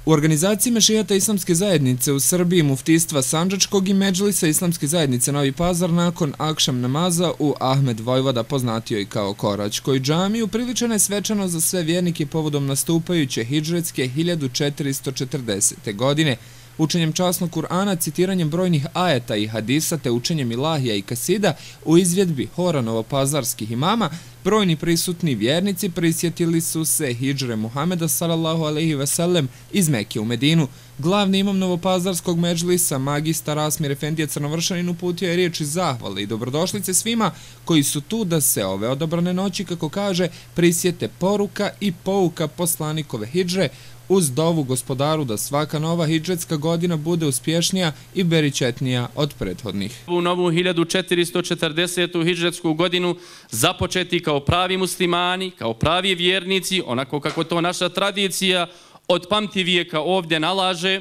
U organizaciji Mešijata Islamske zajednice u Srbiji, Muftijstva Sandžačkog i Medžlisa Islamske zajednice Novi Pazar nakon akšam namaza u Ahmed Vojvoda, poznatio i kao Koračkoj džamiji, upriličena je svečano za sve vjernike povodom nastupajuće hidžretske 1440. godine. Učenjem časnog Kur'ana, citiranjem brojnih ajeta i hadisa te učenjem ilahija i kasida u izvedbi hora novopazarskih imama, brojni prisutni vjernici prisjetili su se hidžre Muhameda sallallahu alejhi ve sellem iz Mekke u Medinu. Glavni imam novopazarskog medžlisa, magistar Asmir Efendija Crnovršanin, uputio je riječi zahvale i dobrodošlice svima koji su tu da se ove odabrane noći, kako kaže, prisjete poruka i pouka poslanikove hidžre, uz dovu Gospodaru da svaka nova hidžretska godina bude uspješnija i beričetnija od prethodnih. U novu 1440. hidžretsku godinu započeti kao pravi muslimani, kao pravi vjernici, onako kako to naša tradicija od pamti vijeka ovdje nalaže,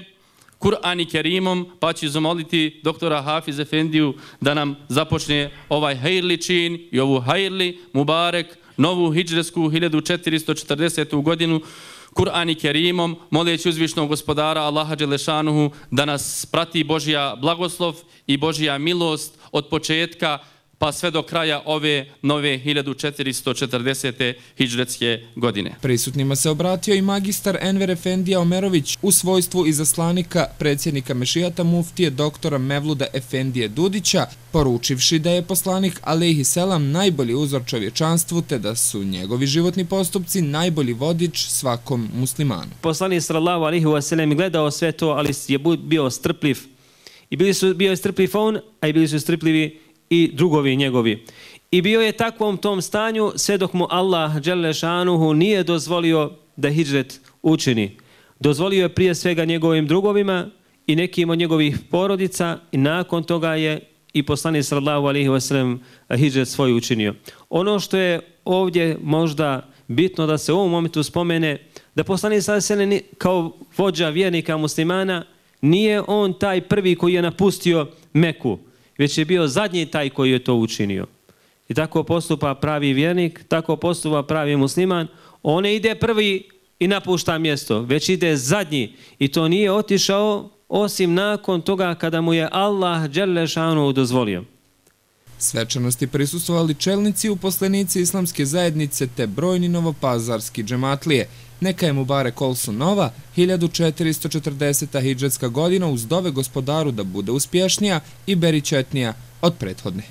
Kur'an i Kerimom, pa ću zamoliti doktora Hafiz Efendiju da nam započne ovaj hajrli čin i ovu hajrli mubarek, novu hidžretsku 1440. godinu, Kur'an i Kerimom, moleći uzvišnog Gospodara Allaha Đelešanuhu da nas prati Božja blagoslov i Božja milost od početka pa sve do kraja ove nove 1440. hidžretske godine. Prisutnima se obratio i magistar Enver Efendija Omerović u svojstvu izaslanika predsjednika Mešijata muftije doktora Mevluda Efendije Dudića, poručivši da je poslanik alejhi selam najbolji uzor čovječanstvu te da su njegovi životni postupci najbolji vodič svakom muslimanu. Poslanik sallallahu alejhi ve sellem gledao sve to, ali je bio strpljiv. I bio je strpljiv on, a i bili su strpljivi i drugovi njegovi. I bio je takvom tom stanju sve dok mu Allah Đelešanuhu nije dozvolio da hidžret učini. Dozvolio je prije svega njegovim drugovima i nekim od njegovih porodica i nakon toga je i poslanik sallallahu alejhi ve sellem hidžret svoj učinio. Ono što je ovdje možda bitno da se u ovom momentu spomene, da poslanik sallallahu alejhi ve sellem kao vođa vjernika muslimana nije on taj prvi koji je napustio Meku, već je bio zadnji taj koji je to učinio. I tako postupa pravi vjernik, tako postupa pravi musliman. On ne ide prvi i napušta mjesto, već ide zadnji. I to nije otišao osim nakon toga kada mu je Allah Đelešanuhu dozvolio. Svečanosti prisustvovali čelnici i uposlenici Islamske zajednice te brojni novopazarski džematlije. Neka je mubarek olsu nova 1440. hidžretska godina uz dove Gospodaru da bude uspješnija i beričetnija od prethodne.